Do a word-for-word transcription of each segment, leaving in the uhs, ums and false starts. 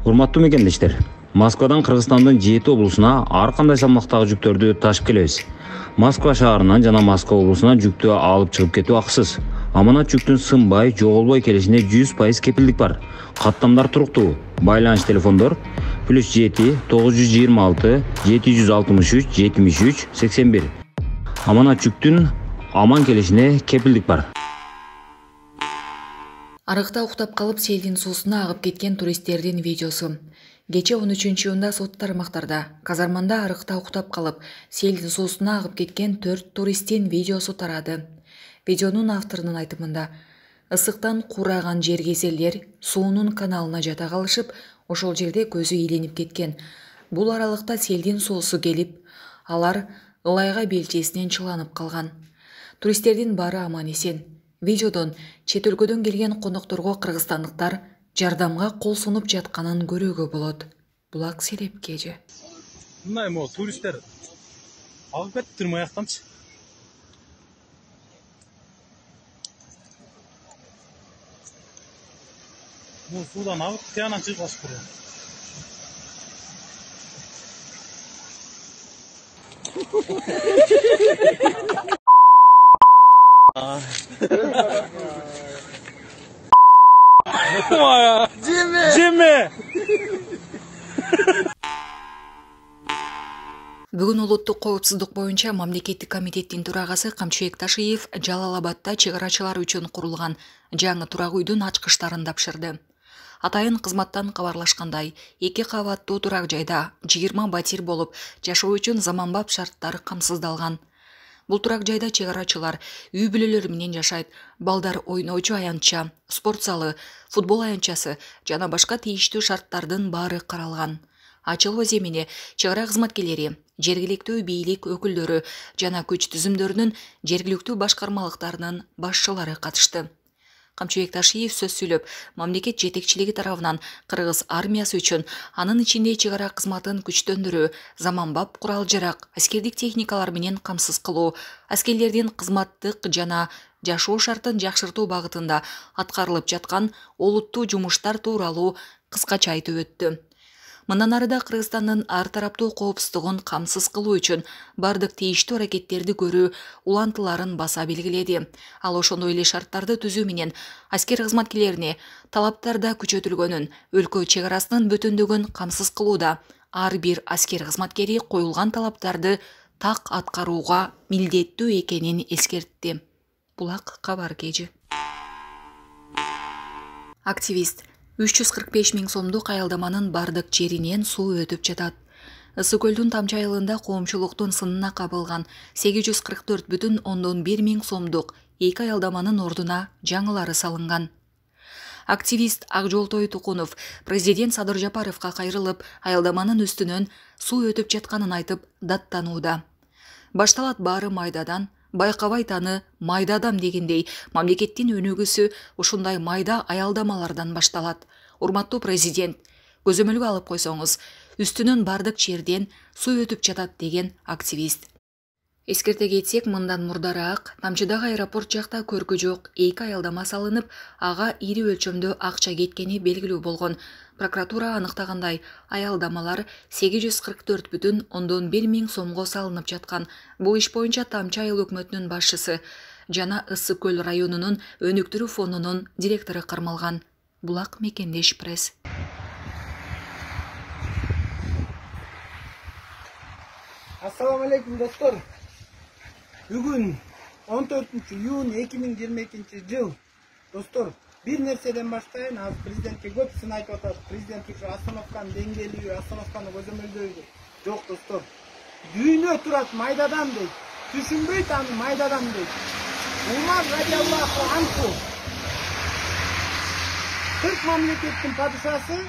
Урматтуу мекендештер, Москвадан Кыргызстандын жети облусуна ар кандай салмактагы жүктөрдү ташып келебиз. Москва шаарынан жана Москва облусуна жүктү алып чыгып кетүү акысыз. Аманат жүктүн сынбай, жоголбой келишине жүз пайыз кепилдик бар. Каттамдар туруктуу. Байланыш телефондор плюс жети тогуз жүз жыйырма алты жети жүз алтымыш үч жетимиш үч сексен бир. Аманат жүктүн аман келишине кепилдик бар. Арыкта уктап калып селдин суусуна агып кеткен туристтердин видеосу. Кече он үчүнчү июнда сот тармактарда казарманда арыкта уктап калып селдин суусуна агып кеткен төрт туристтин видеосу тарады. Видеонун авторунун айтымында, ысыктан кураган жергезелер суунун каналына жата калышып, ошол жерде көзү иленип кеткен. Бул аралыкта селдин суусу келип, алар ылайга белчесинен чыланып калган. Туристтердин баары аман эсен. Видеодон чет өлкөдөн келген конокторго кыргызстандыктар жардамга кол сунуп жатканын көрүүгө болот. Булак Серепке же. Мындай мо туристтер агып кетиптир маяктанчы. Бул суудан агып тиянан чыгып калышып Моя. Джимми! Джимми! Бүгүн улуттук коопсуздук боюнча мамлекеттик комитеттин төрагасы Камчыбек Ташиев Жалал Абадда чыгарачылар үчүн курулган жаңы турак үйдүн ачкычтарын тапшырды. Атайын кызматтан кабарлашкандай, эки кабаттуу турак жайда жыйырма батир болуп, жашоо үчүн заманбап шарттар камсыздалган. Бул турак жайда чыгарачылар үй бүлөлөр менен жашайт, балдар ойноочу аянтча, спорт залы, футбол аянтчасы жана башка тийиштүү шарттардын баары каралган. Ачылуу эмине чыгара кызматкерлери, жергиликтүү бийлик өкүлдөрү жана күч түзүмдөрүнүн жергиликтүү башкармалыктарынын башчылары катышты. Камчыбек Ташиев сөз сүйлөп, мамлекет жетекчилиги тарабынан кыргыз армиясы үчүн, анын ичинде чыгара кызматын күчтөндүрүү, заманбап курал-жарак, аскердик техникалар менен камсыз кылуу, аскерлердин кызматтык жана жашоо шартын жакшыртуу багытында аткарылып жаткан олуттуу жумуштар тууралуу кыскача айтып өттү. Мындан арыда Кыргызстандын ар тараптуу коопсуздугун камсыз кылуу үчүн бардык тийиштүү аракеттерди көрүү улантыларын баса белгиледи. Ал ошондой эле шарттарды түзүү менен аскер кызматкерлерине талаптарда күчөтүлгөнүн, өлкө чек арасынын бүтүндүгүн камсыз кылууда ар бир аскер кызматкери коюлган талаптарды так аткарууга милдеттүү экенин эскертти. Булак кабар кежи. Активист үч жүз кырк беш миң сомдук аялдаманын бардык жеринен суу өтүп жатат. Ысык көлдүн Тамчы айылында коомчулуктун сынына кабылган сегиз жүз кырк төрт бүтүн ондон бир миң сомдук эки аялдаманын ордуна жаңылары салынган. Активист Акжолтой Тукунов президент Садыр Жапаровго кайрылып, аялдаманын үстүнөн суу өтүп жатканын айтып даттанууда. Башталат баары майдадан, байкабай таны майда адам дегендей, мамлекеттин өнүгүүсү ушундай майда аялдамалардан башталат. Урматтуу президент, көзөмөлгө алып койсоңуз, үстүнөн бардык жерден суу өтүп жатат деген активист. Эскерте кетсек, мындан мурдараак Тамчыдагы аэропорт жакта көркү жок эки аялдама салынып, ага ири өлчөмдө акча кеткени белгилүү болгон. Прокуратура аныктагандай, аялдамалар сегиз жүз кырк төрт бүтүн ондон бир миң сомго салынып жаткан. Бул иш боюнча Тамчы айыл өкмөтүнүн башчысы жана Ысык көл районунун өнүктүрүү фондунун директору кармалган. Булак Мекендеш пресс. Ассаламу алейкум, достор. Бүгүн он төртүнчү июнь эки миң жыйырма экинчи жыл. Достор, бир нерседен баштайын, азыр президентке көп сын айтып атат. Президент ушу остановканын деңгээлиби, остановканы көзөмөлдөйбү. Жок, достор. Дүйнө турат майдадан дейт. Түшүнбөйт аны майдадан дейт. Умар радиаллаху анху. Кырк мамлекеттин падышасы,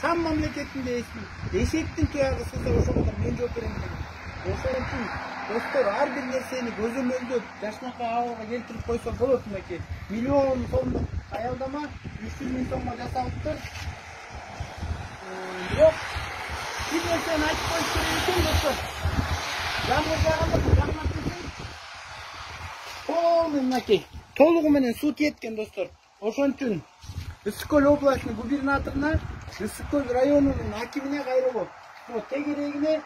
Шам мамлекетинде эшектин туягы сызса ошого мен жооп берем деген. Ошон үчүн достор, ар бир нерсени көзөмөлдөп, жашнакай абалга келтирип койсо болот мынакей. Миллион сомдук аялдама үч жүз миң сомго жасалыптыр. Бирок бир нерсени айтып коюш керек экен, достор. Жамгыр жааганда жамгыр тийсең, полный мынакей, толугу менен суу кеткен, достор. Ошон үчүн Ысык көл областынын губернаторуна Ысык Көл районунун акимине кайрылып, вот тегерегине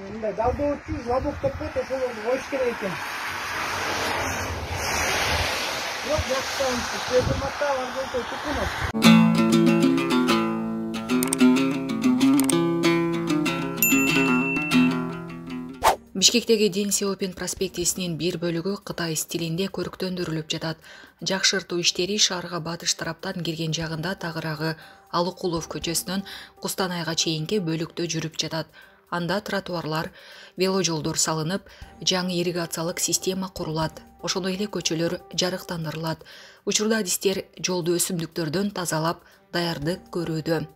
мындай далдоочу жабок деп коет, ошолорду коюш керек экен. Бирок жакшыдан Пердематта Арзолтой Тукунов. Бишкектеги Дэн Сяопин проспектисинин бир бөлүгү Кытай стилинде көрктөндүрүлүп жатат. Жакшыртуу иштери шаарга батыш тараптан кирген жагында тагыраагы Алыкулов көчөсүнөн Кустанайга чейинки бөлүктө жүрүп жатат. Анда тротуарлар, вело жолдор салынып, жаңы ирригациялык система курулат. Ошондой эле көчөлөр жарыктандырылат. Учурда адистер жолду өсүмдүктөрдөн тазалап, даярдык көрүүдө.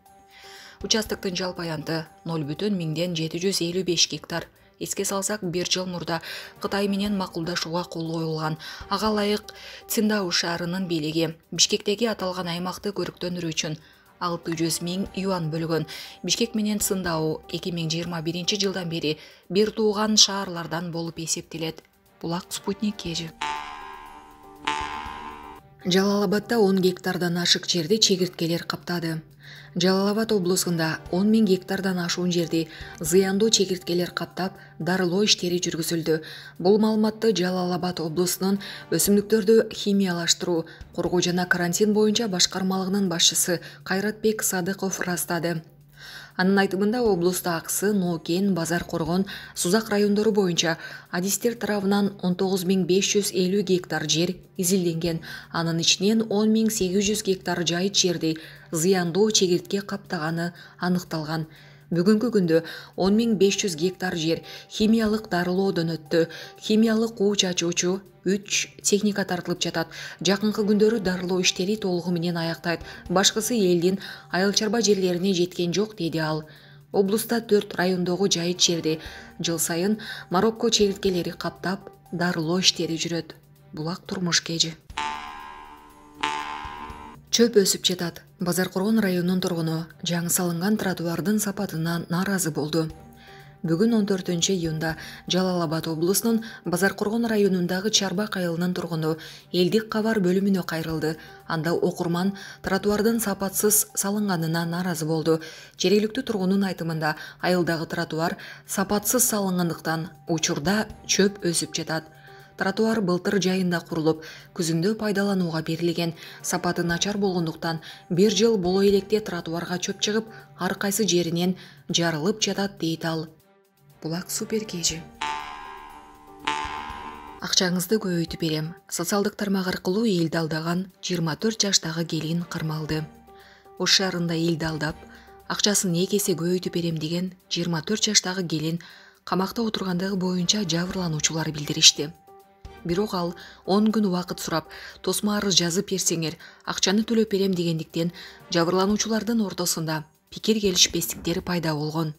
Участоктун жалпы аянты ноль бүтүн миңден жети жүз элүү беш гектар. Эске салсак, бир жыл мурда Кытай менен макулдашууга кол коюлган. Ага ылайык Циндао шаарынын бийлиги Бишкектеги аталган аймакты көрктөндүрүү үчүн алты жүз миң юан бөлгөн. Бишкек менен Циндао эки миң жыйырма биринчи жылдан бери бир тууган шаарлардан болуп эсептелет. Булак Спутник Кежи. Жалал-Абадда он гектардан ашык жерди чегирткелер каптады. Жалал-Абад облусунда он миң гектардан ашуун жерди зыяндуу чегирткелер каптап, дарылоо иштери жүргүзүлдү. Бул маалыматты Жалал-Абад облусунун өсүмдүктөрдү химиялаштыруу, коргоо жана карантин боюнча башкармалыгынын башчысы Кайратбек Садыков ырастады. Анын айтымында облуста Аксы, Ноокен, Базар Коргон, Сузак райондору боюнча адистер тарабынан он тогуз миң беш жүз элүү гектар жер изилденген. Анын ичинен он миң сегиз жүз гектар жайыт жерди зыяндуу чегиртке каптаганы аныкталган. Бүгүнкү күндө он миң беш жүз гектар жер химиялык дарылоодон өттү. Химиялык уу чачуучу үч техника тартылып жатат. Жакынкы күндөрү дарылоо иштери толугу менен аяктайт. Башкысы элдин айыл чарба жерлерине жеткен жок, деди ал. Облуста төрт райондогу жайыт жерди жыл сайын Марокко чегирткелери каптап, дарылоо иштери жүрөт. Булак Турмуш Кежи. Чөп өсүп жатат. Базар Коргон районунун тургуну жаңы салынган тротуардын сапатынан нааразы болду. Бүгүн он төртүнчү июнда Жалал-Абад облусунун Базар Коргон районундагы Чарбак айылынын тургуну элдик кабар бөлүмүнө кайрылды. Анда окурман тротуардын сапатсыз салынганына нааразы болду. Жергиликтүү тургундун айтымында айылдагы тротуар сапатсыз салынгандыктан учурда чөп өсүп жатат. Тротуар былтыр жайында курулуп, күзүндө пайдаланууга берилген. Сапаты начар болгондуктан бир жыл боло электе тротуарга чөп чыгып, ар кайсы жеринен жарылып жатат, дейт ал. Булак Супер Кежи. Акчаңызды көбөйтүп берем. Социалдык тармак аркылуу элди алдаган жыйырма төрт жаштагы келин кармалды. Ош шаарында элди алдап, акчасын эки эсе көбөйтүп берем деген жыйырма төрт жаштагы келин камакта отургандыгы боюнча жабырлануучулар билдиришти. Бирок ал он күн убакыт сурап, тосмо арыз жазып берсеңер, акчаны төлөп берем дегендиктен жабырлануучулардын ортосунда пикир келишпестиктери пайда болгон.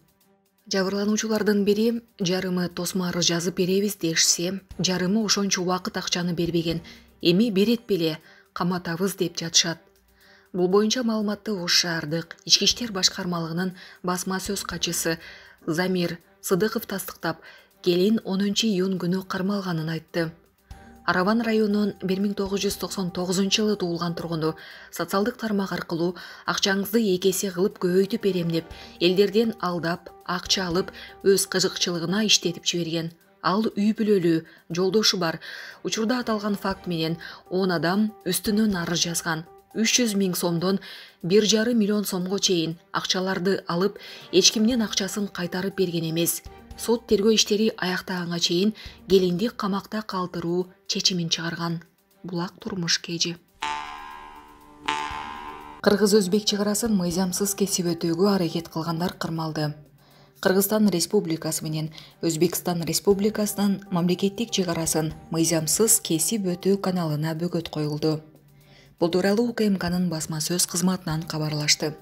Жабырлануучулардын бири жарымы тосмо арыз жазып беребиз дешсе, жарымы ошончо убакыт акчаны бербеген. Эми берет беле, каматабыз деп жатышат. Бул боюнча маалыматты Ош шаардык Ички иштер башкармалыгынын басма сөз катчысы Замир Сыдыков тастыктап, келин онунчу июнь күнү кармалганын айтты. Арабан районунун бир миң тогуз жүз токсон тогузунчу жылы туулган тургуну социалдык тармак аркылуу акчаңызды эки эсе кылып көбөйтүп берем деп элдерден алдап, акча алып, өз кызыкчылыгына иштетип жиберген. Ал үй бүлөлүү, жолдошу бар. Учурда аталган факт менен он адам үстүнөн арыз жазган. үч жүз миң сомдон бир жарым миллион сомго чейин акчаларды алып, эч кимдин акчасын кайтарып берген эмес. Сот тергөө иштери аяктаганга чейин келинди камакта калтыруу чечимин чыгарган. Булак Турмуш Кежи. Кыргыз-өзбек чек арасын мыйзамсыз кесип өтүүгө аракет кылгандар кырмалды. Кыргызстан Республикасы менен Өзбекстан Республикасынын мамлекеттик чек арасын мыйзамсыз кесип өтүү каналына бөгөт коюлду. Бул тууралуу У К М К'нын басма сөз кызматынан кабарлашты.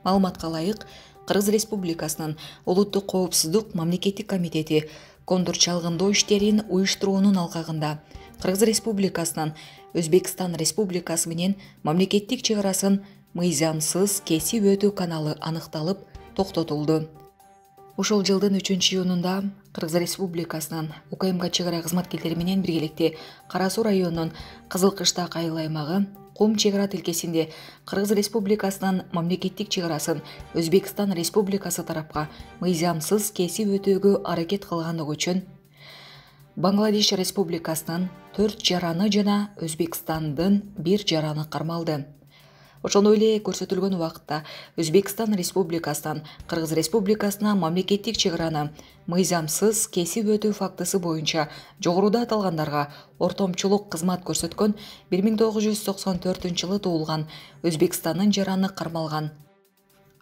Маалыматка ылайык, Кыргыз Республикасынын Улуттук коопсуздук мамлекеттик комитети кондур чалгындоо иштерин уюштуруунун алкагында Кыргыз Республикасынын Өзбекстан Республикасы менен мамлекеттик чек арасын мыйзамсыз кесип өтүү каналы аныкталып, токтотулду. Ушул жылдын үчүнчү июнунда Кыргыз Республикасынын У К М К чек ара кызматкерлери менен биргеликте Кара Суу районунун Кызыл Кыштак айыл аймагы Кум чек ара тилкесинде Кыргыз Республикасынын мамлекеттик чек арасын Өзбекстан Республикасы тарапка мыйзамсыз кесип өтөөгө аракет кылгандыгы үчүн Бангладеш Республикасынын төрт жараны жана Өзбекстандын бир жараны кармалды. Ошондой эле көрсөтүлгөн убакытта Өзбекстан Республикасынан Кыргыз Республикасына мамлекеттик чек араны мыйзамсыз кесип өтүү фактысы боюнча жогоруда аталгандарга ортомчулук кызмат көрсөткөн бир миң тогуз жүз токсон төртүнчү жылы туулган Өзбекстандын жараны кармалган.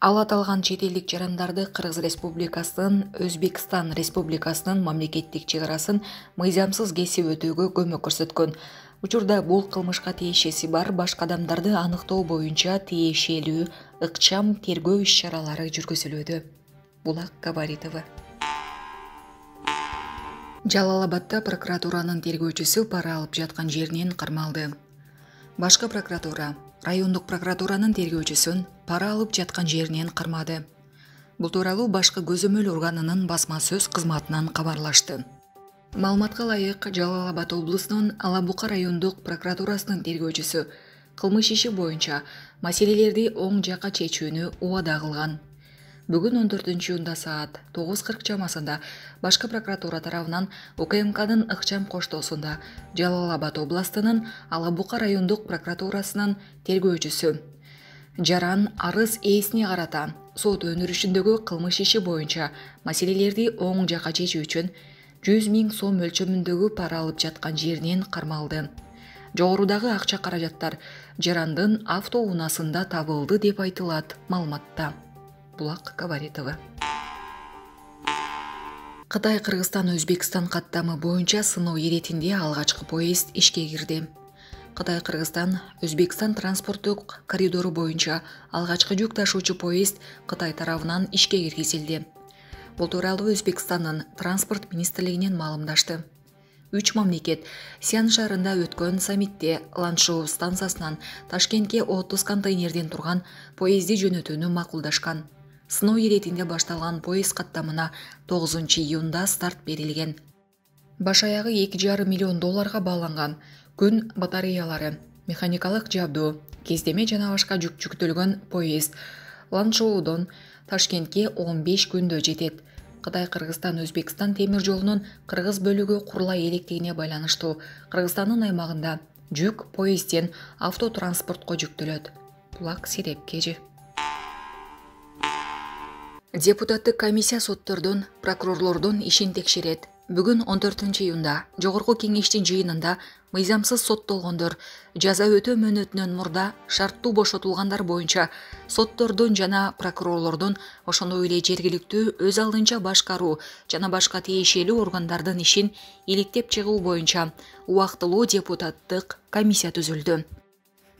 Ал аталган чет элдик жарандарды Кыргыз Республикасынын Өзбекстан Республикасынын мамлекеттик чек арасын мыйзамсыз кесип өтүүгө көмөк көрсөткөн. Учурда бул кылмышка тиешеси бар башка адамдарды аныктоо боюнча тиешелүү ыкчам тергөө иш-чаралары жүргүзүлүүдө. Булак Габаритова. Жалал-Абадда прокуратуранын тергөөчүсү пара алып жаткан жеринен кармалды. Башкы прокуратура райондук прокуратуранын тергөөчүсүн пара алып жаткан жеринен кармады. Бул тууралуу башкы көзөмөл органынын басма сөз кызматынан кабарлашты. Маалыматка ылайык, Жалал-Абад облусунун Алабука райондук прокуратурасынын тергөөчүсү кылмыш иши боюнча маселелерди оң жакка чечүүнү убада кылган. Бүгүн он төртүнчү июнда саат тогуз кырк чамасында башкы прокуратура тарабынан УКМКнын ыкчам коштоосунда Жалал-Абад областынын Алабука райондук прокуратурасынын тергөөчүсү Жаран арыз ээсине карата сот өндүрүшүндөгү кылмыш иши боюнча маселелерди оң жакка чечүү үчүн жүз миң сом өлчөмүндөгү пара алып жаткан жеринен кармалды. Жогорудагы акча каражаттар Жарандын автоунаасында табылды деп айтылат маалыматта. Булак Габаритова. Кытай Кыргызстан Өзбекстан каттамы боюнча сыноо иретинде алгачкы поезд ишке кирди. Кытай Кыргызстан Өзбекстан транспорттук коридору боюнча алгачкы жүк ташуучу поезд Кытай тарабынан ишке киргизилди. Бул тууралуу Өзбекстандын транспорт министрлигинен маалымдашты. Үч мамлекет Сиан шаарында өткөн саммитте Ланшоу станциясынан Ташкентке отуз контейнерден турган поезди жөнөтүүнү макулдашкан. Сыноо иретинде башталган поезд каттамына тогузунчу июнда старт берилген. Баш аягы эки жарым миллион долларга бааланган күн батареялары, механикалык жабдуу, кездеме жана башка жүк жүктөлгөн поезд Ланшоудон Ташкентке он беш күндө жетет. Кытай Кыргызстан Өзбекстан темир жолунун кыргыз бөлүгү курулай электигине байланыштуу Кыргызстандын аймагында жүк поездден автотранспортко жүктөлөт. Булак Серепкежи. Депутаттык комиссия соттордун, прокурорлордун ишин текшерет. Бүгүн он төртүнчү июнда жогорку кеңештин жыйынында мыйзамсыз соттолгондор жаза өтөө мөөнөтүнөн мурда шарттуу бошотулгандар боюнча соттордун жана прокурорлордун, ошондой эле жергиликтүү өз алдынча башкаруу жана башка тиешелүү органдардын ишин иликтеп чыгуу боюнча убактылуу депутаттык комиссия түзүлдү.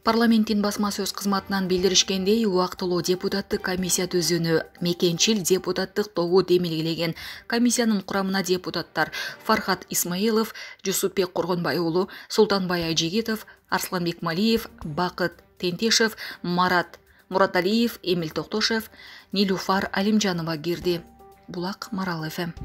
Парламенттин басма сөз кызматынан билдиришкендей, убактылуу депутаттык комиссия түзүүнү мекенчил депутаттык тобу демилгелеген. Комиссиянын курамына депутаттар Фархат Исмаилов, Жусупбек Коргонбай уулу, Султанбай Айжигитов, Арсланбек Малиев, Бакыт Тентешев, Марат Мураталиев, Эмил Токтошев, Нилуфар Алимжанова кирди. Булак Марал эф эм.